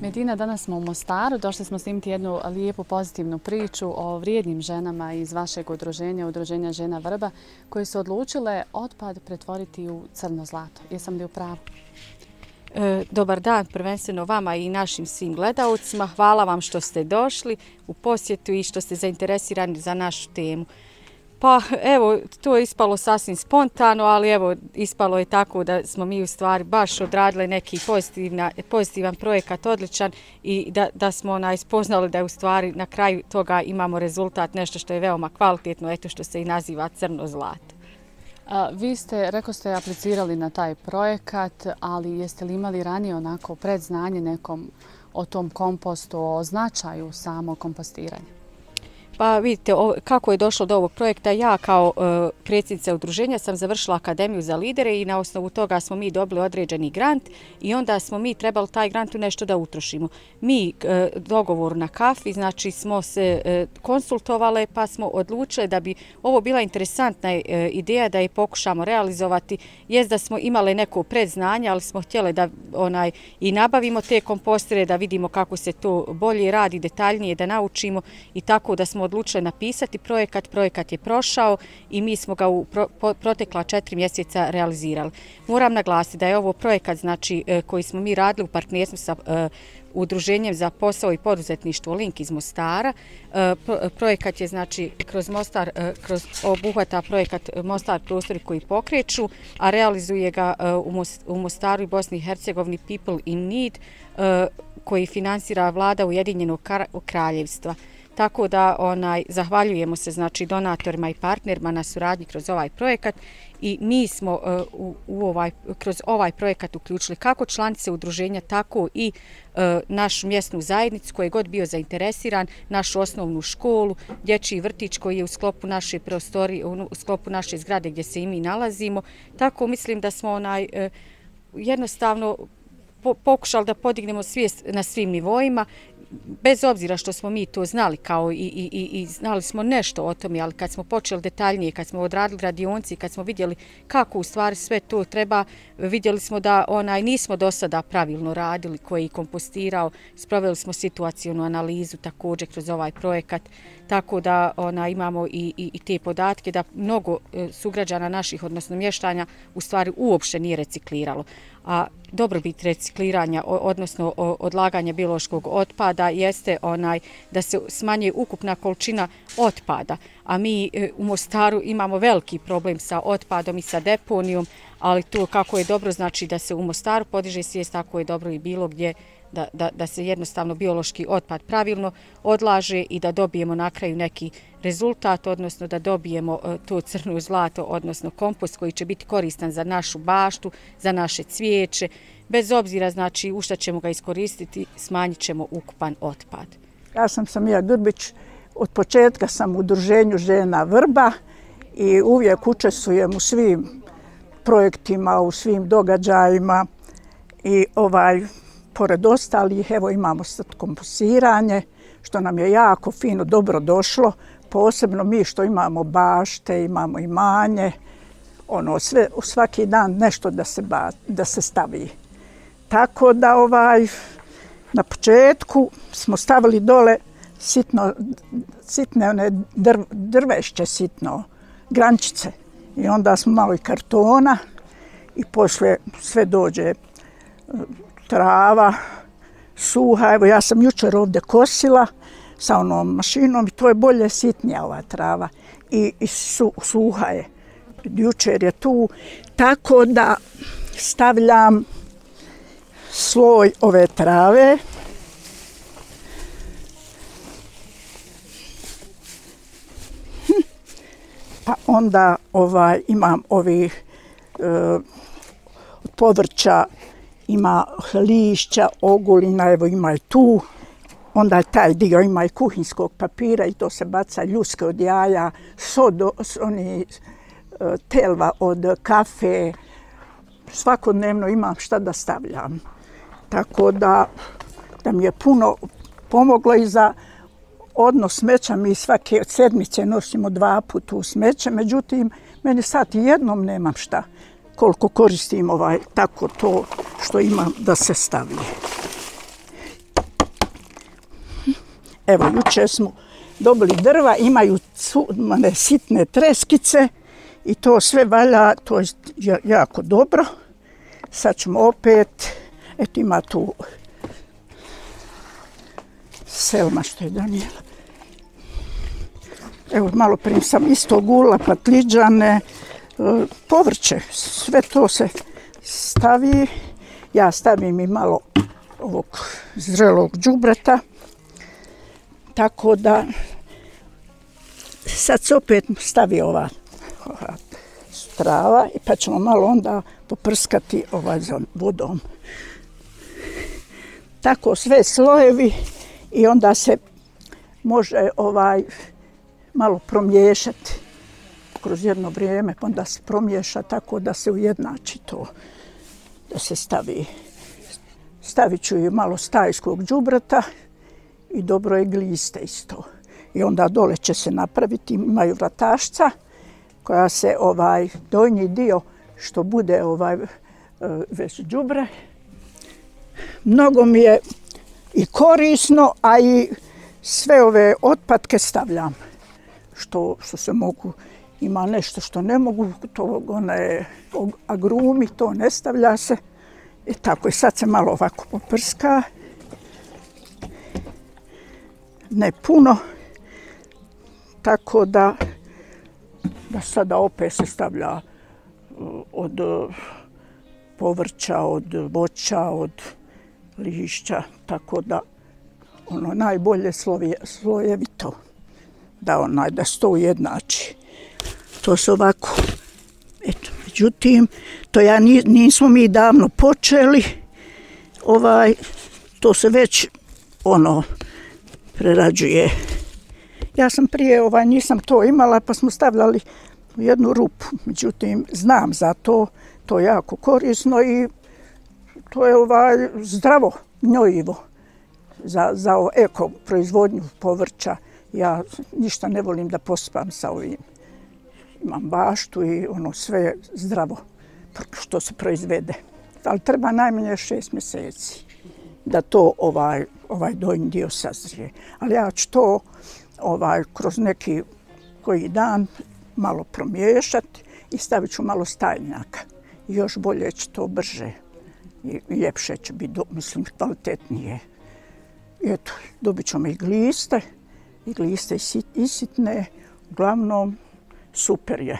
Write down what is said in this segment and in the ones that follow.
Medina, danas smo u Mostaru. Došli smo snimiti jednu lijepu pozitivnu priču o vrijednim ženama iz vašeg udruženja, Udruženja žena Vrba, koje su odlučile otpad pretvoriti u crno zlato. Jesam li u pravu? Dobar dan prvenstveno vama i našim svim gledaocima. Hvala vam što ste došli u posjetu i što ste zainteresirani za našu temu. Pa evo, to je ispalo sasvim spontano, ali evo, ispalo je tako da smo mi u stvari baš odradili neki pozitivan projekat, odličan, i da smo spoznali da je u stvari na kraju toga imamo rezultat, nešto što je veoma kvalitetno, eto što se i naziva crno zlato. Vi ste, rekoste, aplicirali na taj projekat, ali jeste li imali ranije onako predznanje nekom o tom kompostu, o značaju samog kompostiranja? Pa vidite kako je došlo do ovog projekta. Ja kao predsjednica udruženja sam završila Akademiju za lidere i na osnovu toga smo mi dobili određeni grant i onda smo mi trebali taj grant u nešto da utrošimo. Mi dogovor na kafi, znači smo se konsultovale pa smo odlučili da bi ovo bila interesantna ideja da je pokušamo realizovati. Jest da smo imali neko predznanje, ali smo htjeli da i nabavimo te kompostere, da vidimo kako se to bolje radi, detaljnije da naučimo, i tako da smo odlučili napisati projekat. Projekat je prošao i mi smo ga u protekla 4 mjeseca realizirali. Moram naglasiti da je ovo projekat koji smo mi radili u partnerstvu sa Udruženjem za posao i poduzetništvo Link iz Mostara. Projekat je kroz Mostar, obuhvata projekat Mostar prostori koji pokreću, a realizuje ga u Mostaru i Bosni i Hercegovini People in Need, koji finansira vlada Ujedinjenog Kraljevstva. Tako da zahvaljujemo se donatorima i partnerima na suradnji kroz ovaj projekat, i mi smo kroz ovaj projekat uključili kako članice udruženja, tako i našu mjesnu zajednicu koji je god bio zainteresiran, našu osnovnu školu, dječji vrtić koji je u sklopu naše prostorije, u sklopu naše zgrade gdje se i mi nalazimo. Tako mislim da smo jednostavno pokušali da podignemo svijest na svim nivoima, bez obzira što smo mi to znali kao i znali smo nešto o tome, ali kad smo počeli detaljnije, kad smo odradili radionice, kad smo vidjeli kako u stvari sve to treba, vidjeli smo da nismo do sada pravilno radili, koji je kompostirao. Sproveli smo situacijonu analizu također kroz ovaj projekat, tako da imamo i te podatke da mnogo sugrađana naših, odnosno mještanja, u stvari uopšte nije recikliralo. A dobrobit recikliranja, odnosno odlaganja biološkog otpada, jeste da se smanjuje ukupna količina otpada. A mi u Mostaru imamo veliki problem sa otpadom i sa deponijom, ali to kako je dobro da se u Mostaru podiže svijest, tako je dobro i bilo gdje da se jednostavno biološki otpad pravilno odlaže i da dobijemo na kraju neki rezultat, odnosno da dobijemo to crno zlato, odnosno kompost koji će biti koristan za našu baštu, za naše cvijeće. Bez obzira u šta ćemo ga iskoristiti, smanjit ćemo ukupan otpad. Ja sam Samija Durbić, od početka sam u Udruženju žena Vrba i uvijek učestvujem u svim projektima, u svim događajima i pored ostalih, evo imamo sad kompostiranje, što nam je jako fino, dobro došlo, posebno mi što imamo bašte, imamo imanje, sve, svaki dan nešto da se stavi. Tako da na početku smo stavili dole sitne drvešće, grančice, i onda smo malo i kartona i poslije sve dođe trava, suha. Evo ja sam jučer ovdje kosila sa onom mašinom i to je bolje sitnija ova trava i suha je. Jučer je tu, tako da stavljam sloj ove trave. Pa onda imam ovih od povrća, ima lišća, ogulina, evo ima i tu. Onda taj dio ima i kuhinskog papira i to se baca, ljuske od jaja, telva od kafe. Svakodnevno imam šta da stavljam. Tako da mi je puno pomoglo i za odnos smeća. Mi svake sedmice nosimo 2 puta u smeće, međutim, meni sad jednom nemam šta. Koliko koristim tako to što imam da se stavlja. Evo, jučer smo dobili drva, imaju sitne treskice i to sve valja, to je jako dobro. Sad ćemo opet, eto ima tu Selma što je donijela. Evo, malo prije sam isto gula, patliđane, povrće, sve to se stavi. Ja stavim i malo ovog zrelog đubreta. Tako da sad se opet stavi ova strava pa ćemo malo onda poprskati vodom. Tako sve slojevi i onda se može malo promiješati kroz jedno vrijeme, onda se promiješa tako da se ujednači to, da se stavi. Stavit ću i malo stajskog đubreta i dobro je gliste isto. I onda dole će se napraviti, imaju vratašca koja se donji dio što bude već đubre. Mnogo mi je i korisno, a i sve ove otpadke stavljam. Što se mogu, ima nešto što ne mogu, to agrumi, to ne stavlja se. I tako, i sad se malo ovako poprska. Ne puno. Tako da sada opet se stavlja od povrća, od voća, od lišća. Tako da najbolje slojevito. Da se to ujednači. To se ovako, eto, međutim, to nismo mi davno počeli, to se već prerađuje. Ja sam prije nisam to imala pa smo stavljali u jednu rupu, međutim, znam za to, to je jako korisno i to je zdravo gnojivo za eko proizvodnju povrća. Ja ništa ne volim da pospam sa ovim. Imam baštu i sve je zdravo što se proizvede. Ali treba najmanje 6 mjeseci da to donji dio sazrije. Ali ja ću to kroz neki koji dan malo promiješati i stavit ću malo stajnjaka. I još bolje će to brže i ljepše će biti, mislim, kvalitetnije. I eto, dobit ćemo i gliste isitne, uglavnom super je.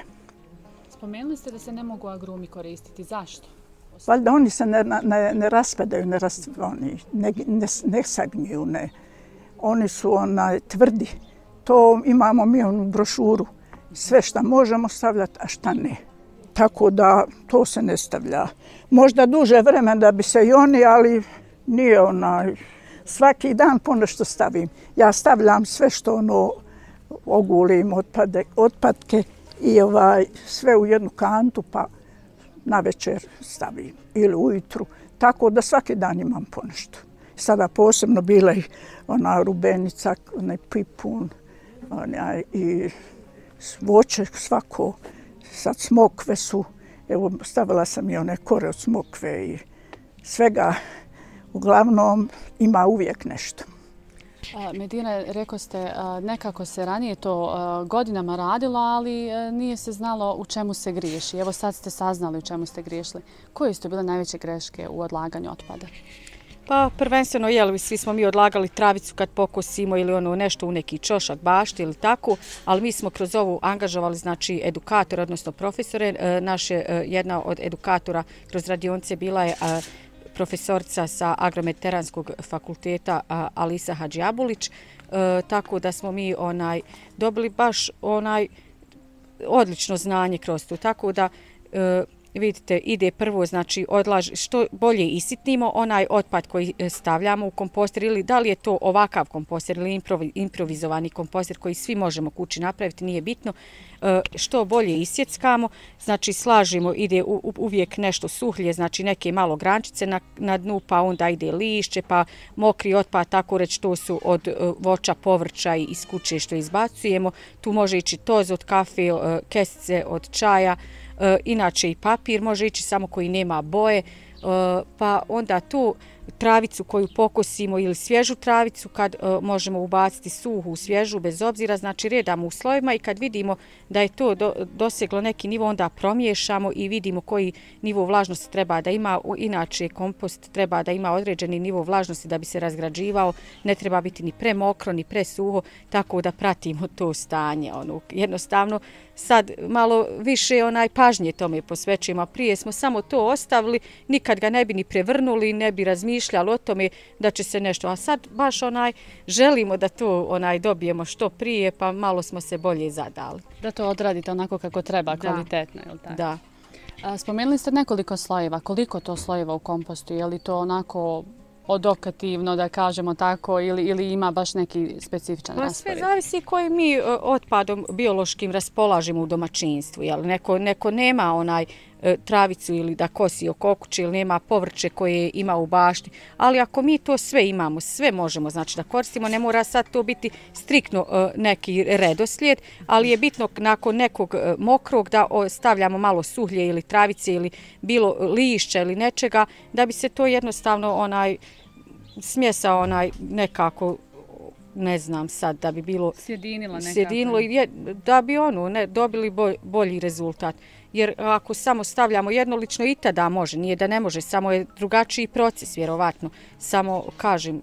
Spomenuli ste da se ne mogu agrumi koristiti. Zašto? Valjda oni se ne raspadaju, ne sagniju. Oni su tvrdi. To imamo mi u brošuru. Sve šta možemo stavljati, a šta ne. Tako da to se ne stavlja. Možda duže vremena da bi se i oni, ali nije svaki dan ponešto stavim. Ja stavljam sve što ogulim, otpadke i sve u jednu kantu pa navečer stavim ili ujutru. Tako da svaki dan imam ponešto. Sada posebno bila i rubenica, pipun i voće svako. Sad smokve su, evo stavila sam i one kore od smokve i svega. Uglavnom ima uvijek nešto. Medina, rekao ste, nekako se ranije to godinama radilo, ali nije se znalo u čemu se griješi. Evo sad ste saznali u čemu ste griješili. Koje su bile najveće greške u odlaganju otpada? Pa prvenstveno, svi smo mi odlagali travicu kad pokosimo ili nešto u neki čošak, bašti ili tako, ali mi smo kroz ovu angažovali, znači, edukatore, odnosno profesore. Jedna od edukatora kroz radionice bila je profesorica sa Agromediteranskog fakulteta Alisa Hadžiabulić, tako da smo mi dobili baš odlično znanje kroz to. Tako da vidite, ide prvo, znači, što bolje isitnimo onaj otpad koji stavljamo u komposter ili da li je to ovakav komposter ili improvizovani komposter koji svi možemo kući napraviti, nije bitno. Što bolje isjeckamo, znači slažimo, ide uvijek nešto suhlje, znači neke malo grančice na dnu, pa onda ide lišće, pa mokri otpad, tako reći, to su od voća, povrća i iz kuće što izbacujemo. Tu može ići toz od kafe, kesice od čaja, inače i papir može ići samo koji nema boje, pa onda tu travicu koju pokosimo ili svježu travicu, kad možemo ubaciti suhu, svježu, bez obzira, znači redamo u slojevima i kad vidimo da je to doseglo neki nivo, onda promiješamo i vidimo koji nivo vlažnosti treba da ima. Inače, kompost treba da ima određeni nivo vlažnosti da bi se razgrađivao, ne treba biti ni premokro, ni presuho, tako da pratimo to stanje. Jednostavno, sad malo više pažnje tome posvećujemo, a prije smo samo to ostavili, nikad ga ne bi ni prevrnuli, ne bi razmišljali o tome da će se nešto, a sad baš želimo da to dobijemo što prije, pa malo smo se bolje zadali. Da to odradite onako kako treba, kvalitetno, je li tako? Da. Spomenuli ste nekoliko slojeva, koliko to slojeva u kompostu, je li to onako odokativno, da kažemo tako, ili ima baš neki specifičan raspored? Sve zavisi koji mi otpadom biološkim raspolažemo u domaćinstvu. Neko nema travicu ili da kosi oko okuće ili nema povrće koje ima u bašti, ali ako mi to sve imamo, sve možemo znači da koristimo, ne mora sad to biti striktno neki redoslijed, ali je bitno nakon nekog mokrog da stavljamo malo suhlje ili travice ili bilo lišća ili nečega, da bi se to jednostavno smjesa nekako, ne znam sad, da bi bilo sjedinilo i da bi dobili bolji rezultat. Jer ako samo stavljamo jednolično i tada može, nije da ne može, samo je drugačiji proces vjerovatno. Samo kažem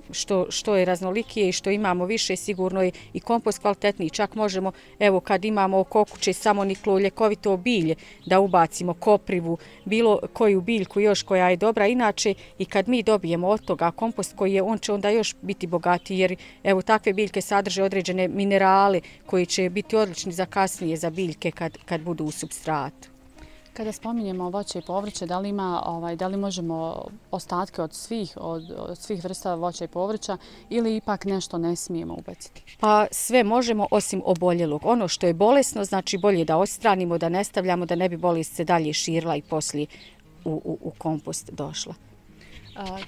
što je raznolikije i što imamo više, sigurno je i kompost kvalitetniji. Čak možemo, evo kad imamo oko kuće samo niklo ljekovito bilje, da ubacimo koprivu, bilo koju biljku još koja je dobra. Inače i kad mi dobijemo od toga kompost koji je, on će onda još biti bogatiji jer evo takve biljke sadrže određene minerale koji će biti odlični za kasnije za biljke kad budu u supstratu. Kada spominjemo voće i povrće, da li možemo ostatke od svih vrsta voća i povrća ili ipak nešto ne smijemo ubaciti? Pa sve možemo osim oboljelog. Ono što je bolesno, znači bolje da odstranimo, da ne stavljamo, da ne bi bolest se dalje širila i poslije u kompost došla.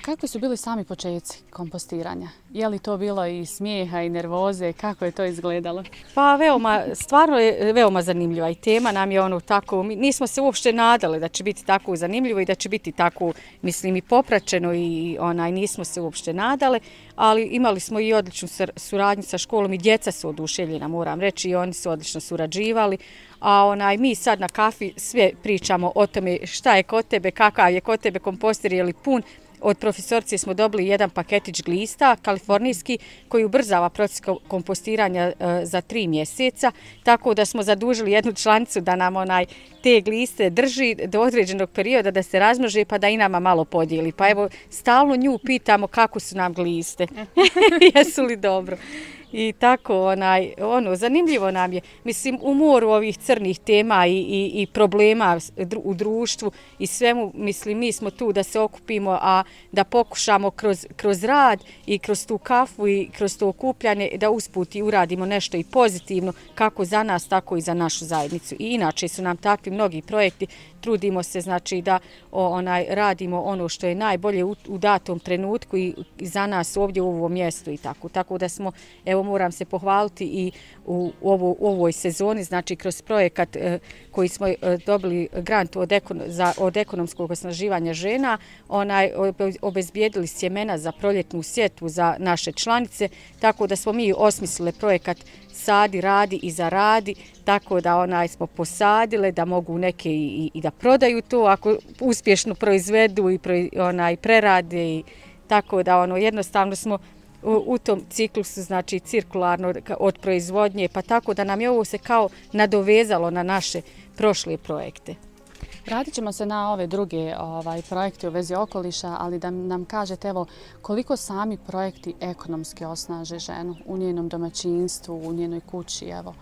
Kakvi su bili sami početci kompostiranja? Je li to bilo i smijeha i nervoze? Kako je to izgledalo? Pa stvarno je veoma zanimljiva i tema nam je tako, nismo se uopšte nadali da će biti tako zanimljivo i da će biti tako, mislim, i popraćeno i nismo se uopšte nadale, ali imali smo i odličnu suradnju sa školom i djeca su oduševljena, moram reći, i oni su odlično surađivali. A mi sad na kafi sve pričamo o tome šta je kod tebe, kakav je kod tebe kompostir, je li pun. Od profesorcije smo dobili jedan paketić glista, kalifornijski, koji ubrzava proces kompostiranja za 3 mjeseca, tako da smo zadužili jednu članicu da nam te gliste drži do određenog perioda da se razmnože pa da i nama malo podijeli. Pa evo, stalno nju pitamo kako su nam gliste, jesu li dobro. I tako, zanimljivo nam je, mislim, u moru ovih crnih tema i problema u društvu i svemu, mislim, mi smo tu da se okupimo, a da pokušamo kroz rad i kroz tu kafu i kroz to okupljanje da usput i uradimo nešto i pozitivno, kako za nas, tako i za našu zajednicu. I inače su nam takvi mnogi projekti, trudimo se, znači, da radimo ono što je najbolje u datom trenutku i za nas ovdje u ovom mjestu i tako. Tako da smo, evo, moram se pohvaliti i u ovoj sezoni, znači kroz projekat koji smo dobili grant od ekonomskog osnaživanja žena, obezbijedili sjemena za proljetnu sjetvu za naše članice, tako da smo mi osmislili projekat Sadi, radi i zaradi, tako da smo posadile da mogu neke i da prodaju to ako uspješno proizvedu i prerade i tako da jednostavno smo u tom ciklusu, znači cirkularno od proizvodnje, pa tako da nam je ovo se kao nadovezalo na naše prošle projekte. Vratit ćemo se na ove druge projekte u vezi okoliša, ali da nam kažete evo koliko sami projekti ekonomski osnaže ženu u njenom domaćinstvu, u njenoj kući, evo.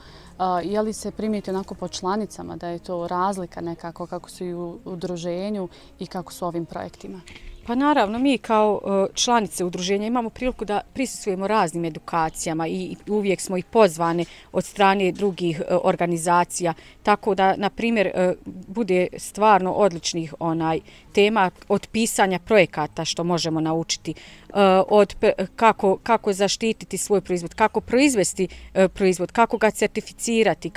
Je li se primijeti onako po članicama da je to razlika nekako kako su i u udruženju i kako su ovim projektima? Pa naravno, mi kao članice udruženja imamo priliku da prisustvujemo raznim edukacijama i uvijek smo i pozvane od strane drugih organizacija, tako da, na primjer, bude stvarno odličnih tema od pisanja projekata što možemo naučiti, kako zaštititi svoj proizvod, kako proizvesti proizvod, kako ga certificirati,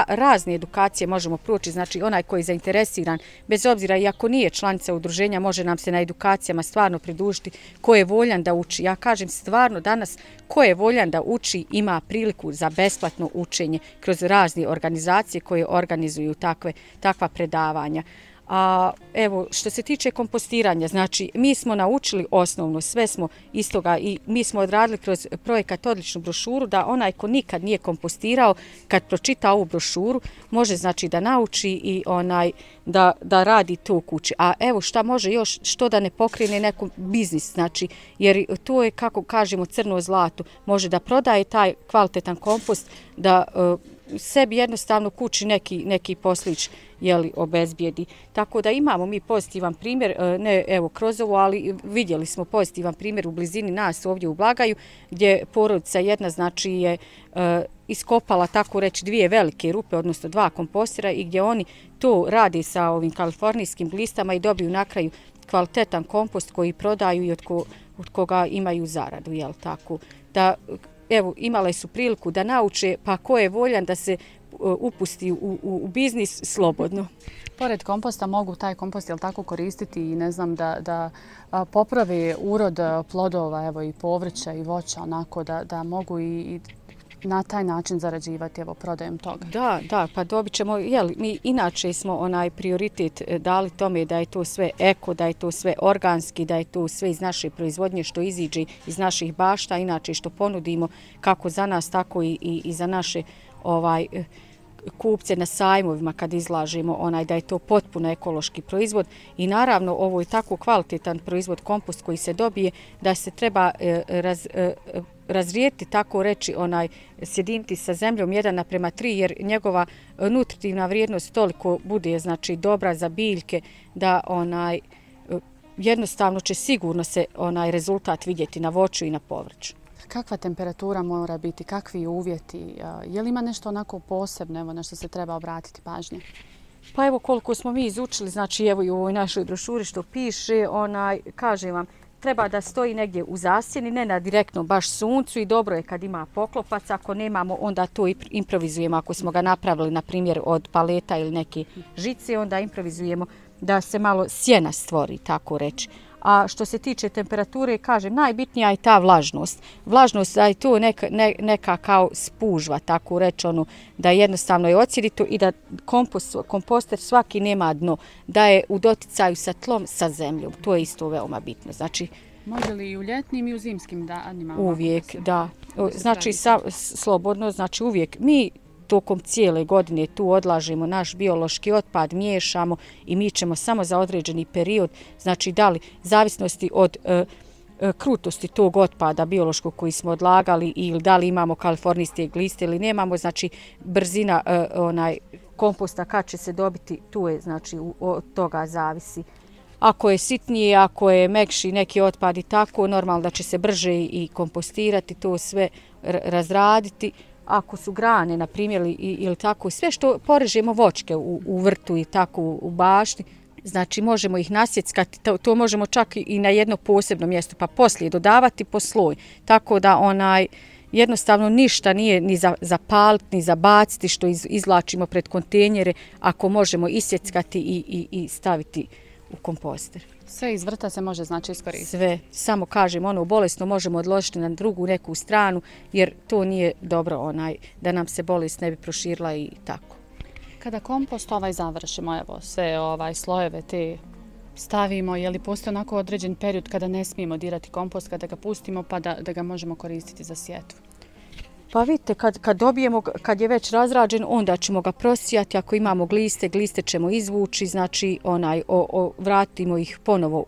razne edukacije možemo proći. Znači onaj koji je zainteresiran, bez obzira i ako nije članica udruženja, može nam se na edukacijama stvarno pridružiti. Ko je voljan da uči? Ja kažem stvarno danas, ko je voljan da uči ima priliku za besplatno učenje kroz razne organizacije koje organizuju takva predavanja. A evo, što se tiče kompostiranja, znači mi smo naučili osnovno, sve smo istoga i mi smo odradili kroz projekat odličnu brošuru da onaj ko nikad nije kompostirao, kad pročita ovu brošuru, može znači da nauči i da radi to u kući. A evo šta može još, što da ne pokrene neku biznis, znači, jer to je, kako kažemo, crno zlato, može da prodaje taj kvalitetan kompost, da sebi jednostavno kući neki poslić obezbijedi. Tako da imamo mi pozitivan primjer, ne evo kroz ovo, ali vidjeli smo pozitivan primjer u blizini nas ovdje u Blagaju, gdje porodica jedna znači je iskopala tako reći 2 velike rupe, odnosno 2 kompostera i gdje oni to rade sa ovim kalifornijskim glistama i dobiju na kraju kvalitetan kompost koji prodaju i od koga imaju zaradu, jel tako? Da evo, imale su priliku da nauče, pa ko je voljan da se upusti u biznis slobodno. Pored komposta mogu taj kompost tako koristiti i ne znam da popravi urod plodova, evo i povrća i voća, onako da mogu i na taj način zarađivati, evo, prodajem toga. Da, pa dobit ćemo, mi inače smo prioritet dali tome da je to sve eko, da je to sve organski, da je to sve iz naše proizvodnje što iziđe iz naših bašta, inače što ponudimo kako za nas, tako i za naše kupce na sajmovima kad izlažemo da je to potpuno ekološki proizvod i naravno ovo je tako kvalitetan proizvod kompost koji se dobije da se treba razrijeti, tako reći, sjediniti sa zemljom 1:3 jer njegova nutritivna vrijednost toliko bude znači dobra za biljke da jednostavno će sigurno se rezultat vidjeti na voću i na povrću. Kakva temperatura mora biti, kakvi uvjeti, je li ima nešto onako posebno, evo, na što se treba obratiti pažnje? Pa evo koliko smo mi izučili, znači evo i u ovoj našoj brošuri što piše, kažem vam, treba da stoji negdje u zasjeni, ne na direktnom baš suncu i dobro je kad ima poklopac, ako nemamo onda to improvizujemo, ako smo ga napravili na primjer od paleta ili neke žice, onda improvizujemo da se malo sjena stvori, tako reći. A što se tiče temperature, kažem, najbitnija je ta vlažnost. Vlažnost da je to neka kao spužva, tako reći, da jednostavno je odsjedito i da komposter svaki nema dno, da je u doticaju sa tlom, sa zemljom. To je isto veoma bitno. Znači, može li i u ljetnim i u zimskim danima? Uvijek, da. Znači, slobodno, znači uvijek. Mi tokom cijele godine tu odlažemo naš biološki otpad, miješamo i mi ćemo samo za određeni period, znači da li zavisnosti od krutosti tog otpada biološkog koji smo odlagali ili da li imamo kalifornijske gliste ili nemamo, znači brzina komposta kad će se dobiti, tu je, znači od toga zavisi. Ako je sitnije, ako je mekši neki otpad i tako, normalno da će se brže i kompostirati, to sve razraditi. Ako su grane, na primjer, ili tako, sve što porežemo voćke u vrtu i tako u bašti, znači možemo ih nasjeckati, to možemo čak i na jedno posebno mjesto, pa poslije dodavati po sloj. Tako da jednostavno ništa nije ni za paliti, ni za baciti što izvlačimo pred kontejnere, ako možemo isjeckati i staviti u komposter. Sve iz vrta se može znači iskoristiti? Sve, samo kažem, bolesno možemo odložiti na drugu neku stranu, jer to nije dobro da nam se bolest ne bi proširila i tako. Kada kompost završimo, evo, sve slojeve te stavimo, je li postoji onako određen period kada ne smijemo dirati kompost, kada ga pustimo pa da ga možemo koristiti za sjetvu? Pa vidite, kad dobijemo, kad je već razrađen, onda ćemo ga prosijati. Ako imamo gliste ćemo izvući, znači vratimo ih ponovo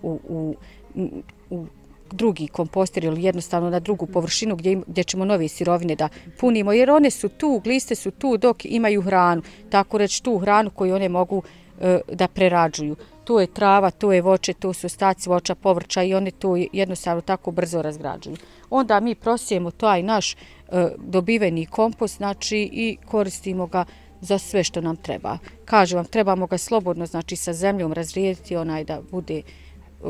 u drugi komposter ili jednostavno na drugu površinu gdje ćemo nove sirovine da punimo, jer one su tu, gliste su tu dok imaju hranu, tako reći tu hranu koju one mogu da prerađuju. To je trava, to je voće, to su ostaci voća, povrća i one to jednostavno tako brzo razgrađuju. Onda mi prosijemo taj naš dobiveni kompost, znači i koristimo ga za sve što nam treba. Kažem vam, trebamo ga slobodno, znači sa zemljom razrijediti da bude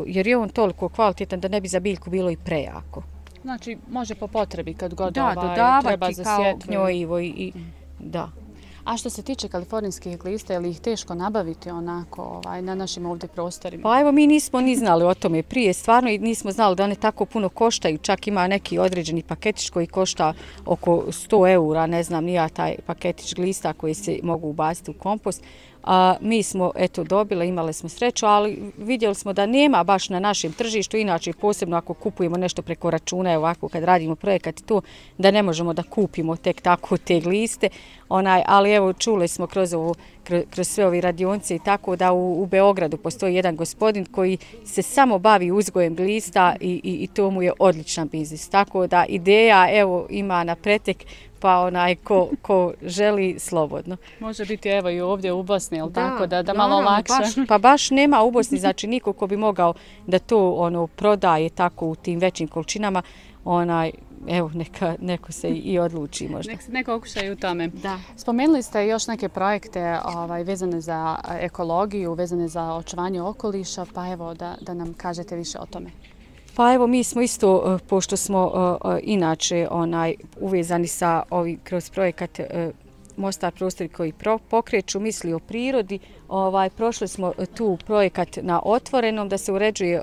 jer je on toliko kvalitetan da ne bi za biljku bilo i prejako. Znači, može po potrebi kad god treba za kao sjetvu. gnjojivo i da. A što se tiče kalifornijskih glista, je li ih teško nabaviti onako na našim ovdje prostorima? Pa evo, mi nismo ni znali o tome prije, stvarno i nismo znali da one tako puno koštaju. Čak ima neki određeni paketić koji košta oko 100 eura, ne znam, nija taj paketić glista koji se mogu ubaciti u kompost. Mi smo dobili, imali smo sreću, ali vidjeli smo da nema baš na našem tržištu, inače posebno ako kupujemo nešto preko računa, ovako kad radimo projekat to, da ne možemo da kupimo tek tako te gliste, ali evo čuli smo kroz sve ove radionice i tako da u Beogradu postoji jedan gospodin koji se samo bavi uzgojem glista i to mu je odličan biznis, tako da ideja evo ima na pretek, pa ko želi slobodno. Može biti evo i ovdje u Bosni, jel tako, da malo lakše. Pa baš nema u Bosni, znači niko ko bi mogao da to prodaje tako u tim većim količinama, evo neko se i odluči možda. Neko okušaju u tome. Da. Spomenuli ste još neke projekte vezane za ekologiju, vezane za očuvanje okoliša, pa evo da nam kažete više o tome. Pa evo mi smo isto, pošto smo inače uvezani sa kroz projekat Mostar prostori koji pokreću misli o prirodi, prošli smo tu projekat na otvorenom, da se uređuje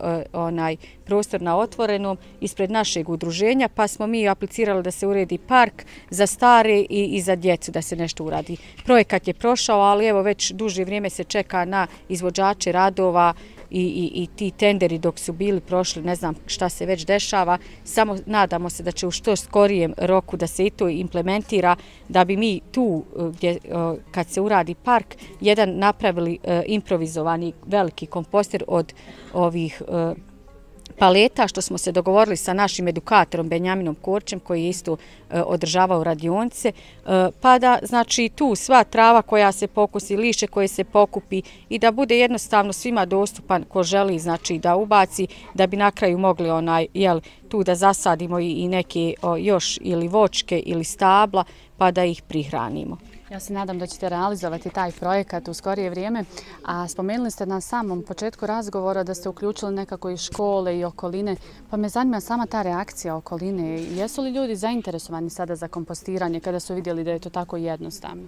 prostor na otvorenom ispred našeg udruženja, pa smo mi aplicirali da se uredi park za stare i za djecu, da se nešto uradi. Projekat je prošao, ali evo već duže vrijeme se čeka na izvođače radova i ti tenderi dok su bili prošli, ne znam šta se već dešava, samo nadamo se da će u što skorijem roku da se i to implementira, da bi mi tu, kad se uradi park, jedan napravili improvizovani veliki komposter od ovih paleta, što smo se dogovorili sa našim edukatorom Benjaminom Korčem, koji je isto održavao radionice, pa da znači tu sva trava koja se pokosi, lišće koje se pokupi i da bude jednostavno svima dostupan ko želi, znači da ubaci, da bi na kraju mogli tu da zasadimo i neke još ili voćke ili stabla, pa da ih prihranimo. Ja se nadam da ćete realizovati taj projekat u skorije vrijeme, a spomenuli ste na samom početku razgovora da ste uključili nekako i škole i okoline, pa me zanima sama ta reakcija okoline. Jesu li ljudi zainteresovani sada za kompostiranje kada su vidjeli da je to tako jednostavno?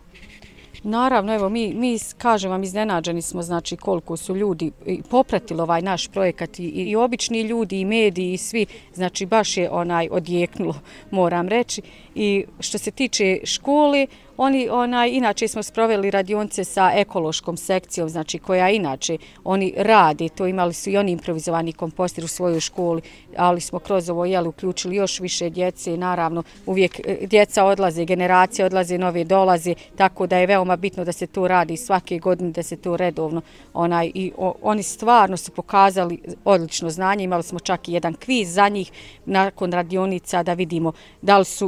Naravno, evo, mi kažem vam, iznenađeni smo, znači, koliko su ljudi popratili ovaj naš projekat i obični ljudi i mediji i svi, znači, baš je odjeknulo, moram reći. I što se tiče škole, inače smo sproveli radionice sa ekološkom sekcijom, znači koja inače oni rade, to imali su i oni improvizovani kompostir u svojoj školi, ali smo kroz ovo uključili još više djece, naravno uvijek djeca odlaze, generacije odlaze, nove dolaze, tako da je veoma bitno da se to radi svake godine, da se to redovno, oni stvarno su pokazali odlično znanje, imali smo čak i jedan kviz za njih nakon radionica da vidimo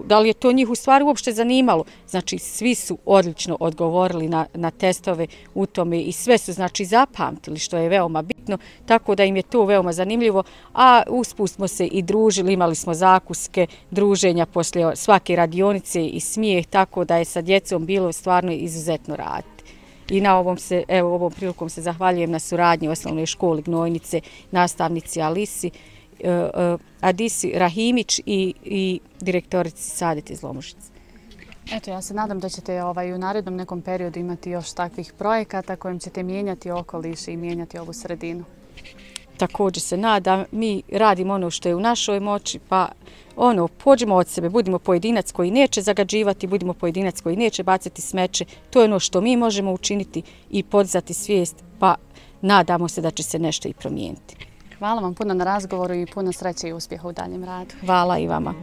da li je to njih u stvari uopšte zanimalo, znači svi su odlično odgovorili na testove u tome i sve su znači zapamtili, što je veoma bitno, tako da im je to veoma zanimljivo, a usput smo se i družili, imali smo zakuske, druženja poslije svake radionice i smijeh, tako da je sa djecom bilo stvarno izuzetno raditi. I na ovom prilikom se zahvaljujem na suradnji osnovnoj školi Gnojnice, nastavnici Adisi Rahimić i direktorici Sadeti Zlomušice. Eto, ja se nadam da ćete u narednom nekom periodu imati još takvih projekata kojim ćete mijenjati okoliš i mijenjati ovu sredinu. Također se nadam, mi radimo ono što je u našoj moći, pa pođemo od sebe, budimo pojedinac koji neće zagađivati, budimo pojedinac koji neće bacati smeće, to je ono što mi možemo učiniti i podizati svijest, pa nadamo se da će se nešto i promijeniti. Hvala vam puno na razgovoru i puno sreće i uspjeha u daljem radu. Hvala i vama.